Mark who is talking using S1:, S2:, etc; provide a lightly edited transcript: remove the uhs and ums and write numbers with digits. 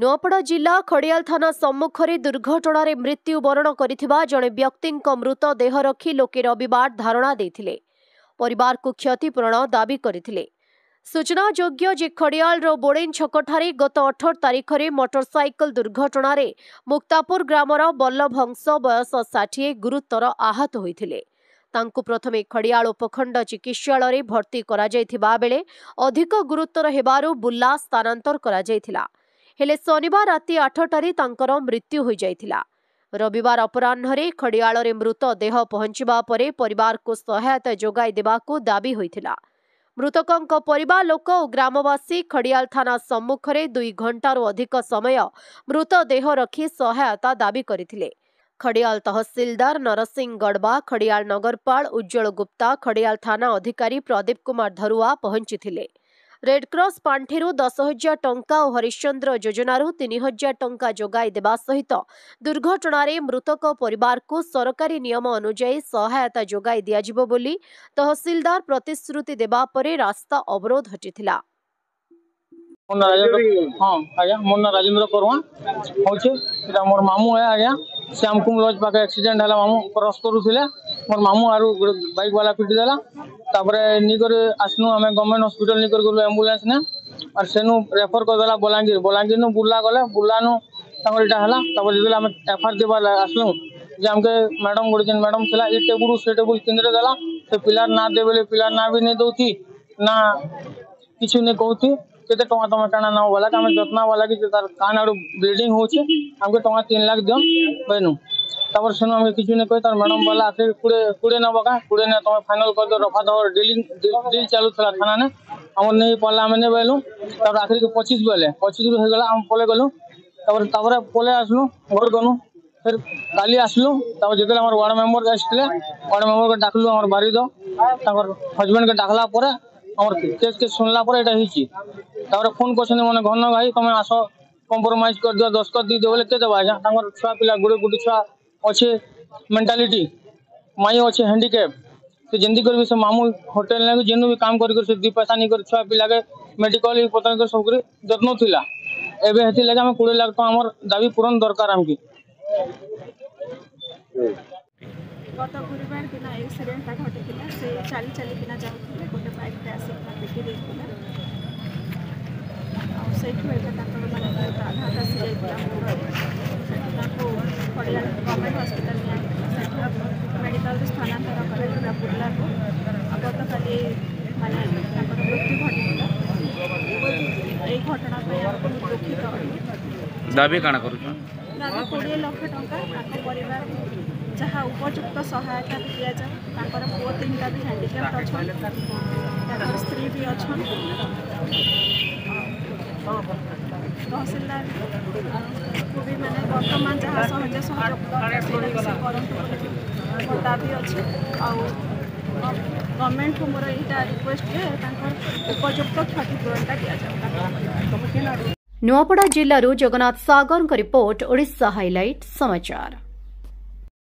S1: ନୂଆପଡ଼ା ଜିଲ୍ଲା ଖଡ଼ିଆଲ ଥାନା ସମ୍ମୁଖରେ ଦୁର୍ଘଟଣାରେ ମୃତ୍ୟୁବରଣ କରିଥିବା ଜଣେ ବ୍ୟକ୍ତିଙ୍କ ମୃତଦେହ ରଖି ଲୋକେ ରବିବାର ଧାରଣା ଦେଇଥିଲେ। ପରିବାରକୁ କ୍ଷତିପୂରଣ ଦାବି କରିଥିଲେ। ସୂଚନାଯୋଗ୍ୟ ଯେ ଖଡ଼ିଆଲର ବୋଡ଼େନ ଛକଠାରେ ଗତ 18 ତାରିଖରେ ମୋଟରସାଇକେଲ ଦୁର୍ଘଟଣାରେ ମୁକ୍ତାପୁର ଗ୍ରାମର ବଲ୍ଲଭ ହଂସ, ବୟସ 60, ଗୁରୁତର ଆହତ ହୋଇଥିଲେ। ତାଙ୍କୁ ପ୍ରଥମେ ଖଡ଼ିଆଳ ଉପଖଣ୍ଡ ଚିକିତ୍ସାଳୟରେ ଭର୍ତ୍ତି କରାଯାଇଥିବା ବେଳେ ଅଧିକ ଗୁରୁତର ହେବାରୁ ବୁର୍ଲା ସ୍ଥାନାନ୍ତର କରାଯାଇଥିଲା। ହେଲେ ଶନିବାର ରାତି 8ଟାରେ ତାଙ୍କର ମୃତ୍ୟୁ ହୋଇଯାଇଥିଲା। ରବିବାର ଅପରାହ୍ନରେ ଖଡ଼ିଆଳରେ ମୃତଦେହ ପହଞ୍ଚିବା ପରେ ପରିବାରକୁ ସହାୟତା ଯୋଗାଇ ଦେବାକୁ ଦାବି ହୋଇଥିଲା। ମୃତକଙ୍କ ପରିବାର ଲୋକ ଓ ଗ୍ରାମବାସୀ ଖଡ଼ିଆଲ ଥାନା ସମ୍ମୁଖରେ 2 ଘଣ୍ଟାରୁ ଅଧିକ ସମୟ ମୃତଦେହ ରଖି ସହାୟତା ଦାବି କରିଥିଲେ। ଖଡ଼ିଆଲ ତହସିଲଦାର ନରସିଂହ ଗଡ଼ବା, ଖଡ଼ିଆଲ ନଗରପାଳ ଉଜ୍ଜଳ ଗୁପ୍ତା, ଖଡ଼ିଆଲ ଥାନା ଅଧିକାରୀ ପ୍ରଦୀପ କୁମାର ଧରୁଆ ପହଞ୍ଚିଥିଲେ। ରେଡ୍କ୍ରସ୍ ପାଣ୍ଠିରୁ 10,000 ଟଙ୍କା ଓ ହରିଶ୍ଚନ୍ଦ୍ର ଯୋଜନାରୁ 3,000 ଟଙ୍କା ଯୋଗାଇ ଦେବା ସହିତ ଦୁର୍ଘଟଣାରେ ମୃତକ ପରିବାରକୁ ସରକାରୀ ନିୟମ ଅନୁଯାୟୀ ସହାୟତା ଯୋଗାଇ ଦିଆଯିବ ବୋଲି ତହସିଲଦାର ପ୍ରତିଶ୍ରୁତି ଦେବା ପରେ ରାସ୍ତା ଅବରୋଧ ହଟିଥିଲା।
S2: ମୋ ନାଁ ରାଜେନ୍ଦ୍ର। ହଁ ଆଜ୍ଞା, ମୋ ନାଁ ରାଜେନ୍ଦ୍ର କରୱାନ ହଉଛେ। ଏଇଟା ମୋର ମାମୁଁ ହେ ଆଜ୍ଞା। ଶ୍ୟାମକୁମ ଲଜ୍ ପାଖେ ଆକ୍ସିଡେଣ୍ଟ ହେଲା। ମାମୁଁ କ୍ରସ୍ କରୁଥିଲେ, ମୋର ମାମୁଁ ଆରୁ ଗୋଟେ ବାଇକ୍ ବାଲା ପିଟି ଦେଲା। ତାପରେ ନେଇକରି ଆସିନୁ ଆମେ, ଗଭର୍ଣ୍ଣମେଣ୍ଟ ହସ୍ପିଟାଲ ନେଇକରି ଗଲୁ ଆମ୍ବୁଲାନ୍ସ ନେ, ଆର୍ ସେନୁ ରେଫର କରିଦେଲା ବଲାଙ୍ଗୀର। ବଲାଙ୍ଗୀରନୁ ବୁର୍ଲା ଗଲେ, ବୁର୍ଲାନୁ ତାଙ୍କର ଏଇଟା ହେଲା। ତାପରେ ଯେତେବେଳେ ଆମେ ଏଫଆଇଆର ଦେବାର ଆସିଲୁ ଯେ ଆମକେ ମ୍ୟାଡ଼ାମ, ଗୋଟେ ଯେନ୍ ମ୍ୟାଡ଼ାମ ଥିଲା, ଏ ଟେବୁଲ ସେ ଟେବୁଲ କିନ୍ଦରେ ଦେଲା। ସେ ପିଲାର ନାଁ ଦେ ବୋଲେ ପିଲାର ନାଁ ବି ନେଇ ଦଉଥି ନା, କିଛି ନେଇ କହୁଥି। କେତେ ଟଙ୍କା ତମେ କାଣା ନବ ବୋଲା, ଆମେ ଯତ୍ନ ବାଲା କି ତାର କାନ ଆଡୁ ବ୍ଲିଡିଂ ହଉଛେ, ଆମକେ ଟଙ୍କା 3 ଲାଖ ଦିଅନ୍ କହିନୁ। ତାପରେ ସେନୁ ଆମକେ କିଛି ନାଇଁ କହି ତାର ମ୍ୟାଡ଼ାମ ବୋଲା, ଆଖି 20 ନେବ କା, 20 ନେ ତମେ ଫାଇନାଲ କରିଦିଅ, ରଫା ଦଫା ଡିଲିଂ ଡିଲ୍ ଚାଲୁଥିଲା ଥାନାନେ। ଆମର ନେଇ ପଡ଼ିଲା, ଆମେ ନେଇ ବୋଇଲୁ। ତାପରେ ଆଖରିକେ 25 ବୋଇଲେ, 25ରୁ ହେଇଗଲା, ଆମେ ପଳେଇ ଗଲୁ। ତାପରେ ପଳେଇ ଆସିଲୁ, ଘର ଗନୁ, ଫେର କାଲି ଆସିଲୁ। ତାପରେ ଯେତେବେଳେ ଆମର ୱାର୍ଡ ମେମ୍ବର ଆସିଥିଲେ, ୱାର୍ଡ ମେମ୍ବରକେ ଡାକଲୁ, ଆମର ବାରିଦ ତାଙ୍କର ହଜବେଣ୍ଡକେ ଡାକଲା ପରେ ଆମର କେସ୍ କେ ଶୁଣିଲା ପରେ ଏଇଟା ହେଇଛି। ତାପରେ ଫୋନ କରିଛନ୍ତି ମାନେ ଘନ ଭାଇ, ତମେ ଆସ, କମ୍ପ୍ରମାଇଜ କରିଦିଅ, ଦସ୍ତଖତ ଦେଇଦିଅ ବୋଲେ କେ ଦେବା ଆଜ୍ଞା? ତାଙ୍କର ଛୁଆ ପିଲା ଗୋଟେ ଗୋଟେ ଛୁଆ ଅଛେ, ମେଣ୍ଟାଲିଟି ମାଇ ଅଛେ, ହ୍ୟାଣ୍ଡିକ୍ୟାପ୍। ସେ ଯେମିତି କରିବି, ସେ ମାମୁଁ ହୋଟେଲ ନାକି ଯେନୁ ବି କାମ କରି କରି ସେ 2 ପଇସା ନେଇକରି ଛୁଆ ପିଲାକେ ମେଡିକାଲ ପତ୍ର କରି ସବୁ କରି ଯତ୍ନ ଥିଲା। ଏବେ ହେଥିର୍ଲାଗି ଆମେ 20 ଲାଖ ଟଙ୍କା ଆମର ଦାବି ପୂରଣ ଦରକାର ଆମକେ।
S3: ଗତ ଗୁରୁବାର ଦିନ ଆକ୍ସିଡେଣ୍ଟଟା ଘଟିଥିଲା। ସେ ଚାଲି ଚାଲିକିନା ଯାଉଥିଲେ, ଗୋଟେ ବାଇକ୍ଟେ ଆସିକିନା ପିଟି ଦେଇଥିଲା। ଆଉ ସେଇଠୁ ଏବେ ତାଙ୍କର ମାନେ ବହୁତ ଆଘାତ ଆସିଯାଇଥିଲା ମୁଣ୍ଡରେ। ସେଠୁ ତାଙ୍କୁ ଖଡ଼ିଆଳ ଗଭର୍ଣ୍ଣମେଣ୍ଟ ହସ୍ପିଟାଲ ନିଆହେଇଥିଲା। ସେଠୁ ମେଡ଼ିକାଲରୁ ସ୍ଥାନାନ୍ତର କରାଯାଇଥିଲା ବୁର୍ଲାକୁ। ଆଉ ଗତକାଲି ମାନେ ତାଙ୍କର ମୃତ୍ୟୁ ଘଟିଥିଲା। ଏଇ ଘଟଣା ପାଇଁ ଆମେ ବହୁତ ଦୁଃଖିତ ଅଟୁ।
S4: ଦାବି କାଣା କରୁଛନ୍?
S3: ଦାବି 20 ଲକ୍ଷ ଟଙ୍କା, ତାଙ୍କ ପରିବାରକୁ ଯାହା ଉପଯୁକ୍ତ ସହାୟତା ବି ଦିଆଯାଉ। ତାଙ୍କର ପୁଅ 3ଟା ବି ହ୍ୟାଣ୍ଡିକ୍ୟାପ୍ଟ ଅଛନ୍, ତାଙ୍କର ସ୍ତ୍ରୀ ବି ଅଛନ୍। ତହସିଲଦାରକୁ ବି ମାନେ ବର୍ତ୍ତମାନ ଯାହା ସହଜ ସହଯୋଗ ଦରକାର, ସେଇଟା ବି ସେ କରନ୍ତୁ ବୋଲି ମୋର ଦାବି ଅଛି। ଆଉ ଗଭର୍ଣ୍ଣମେଣ୍ଟକୁ ମୋର ଏଇଟା ରିକ୍ୱେଷ୍ଟ ଯେ ତାଙ୍କର ଉପଯୁକ୍ତ କ୍ଷତିପୂରଣଟା ଦିଆଯାଉ ତାଙ୍କ ପରିବାରକୁ।
S1: ନୂଆପଡ଼ା ଜିଲ୍ଲାରୁ ଜଗନ୍ନାଥ ସାଗରଙ୍କ ରିପୋର୍ଟ, ଓଡ଼ିଶା ହାଇଲାଇଟ୍ ସମାଚାର।